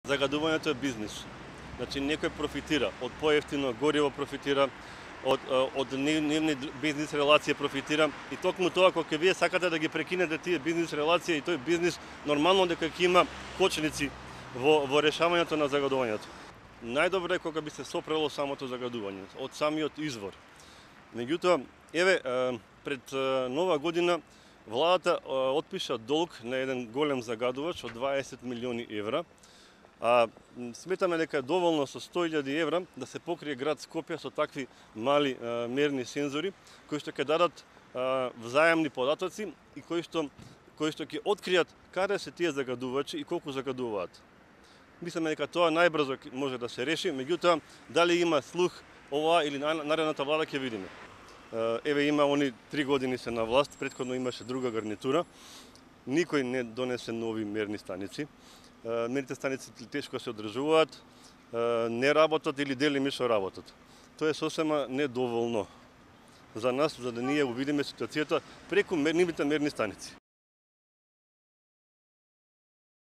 Загадувањето е бизнис. Значи некој профитира од поевтино гориво, профитира од нивни бизнис релација, профитира и токму тоа кога вие сакате да ги прекинете тие бизнис релација и тој бизнис нормално дека ќе има кочници во решавањето на загадувањето. Најдобро е кога би се сопрело самото загадување од самиот извор. Меѓутоа, еве пред нова година владата отпиша долг на еден голем загадувач од 20 милиони евра. Сметаме дека е доволно со 100.000 евра да се покрие град Скопје со такви мали мерни сензори кои што ќе дадат взаемни податоци и кои што ќе откријат каде се тие загадувачи и колку загадуваат. Мислиме дека тоа најбрзо може да се реши, меѓутоа дали има слух ова или наредната влада ќе видиме. Еве има они 3 години се на власт, претходно имаше друга гарнитура. Никој не донесе нови мерни станици. Мерните станици тешко се одржуваат, не работат или делимично работат. Тоа е сосема недоволно за нас, за да ние увидиме ситуацијата преку нивните мерни станици.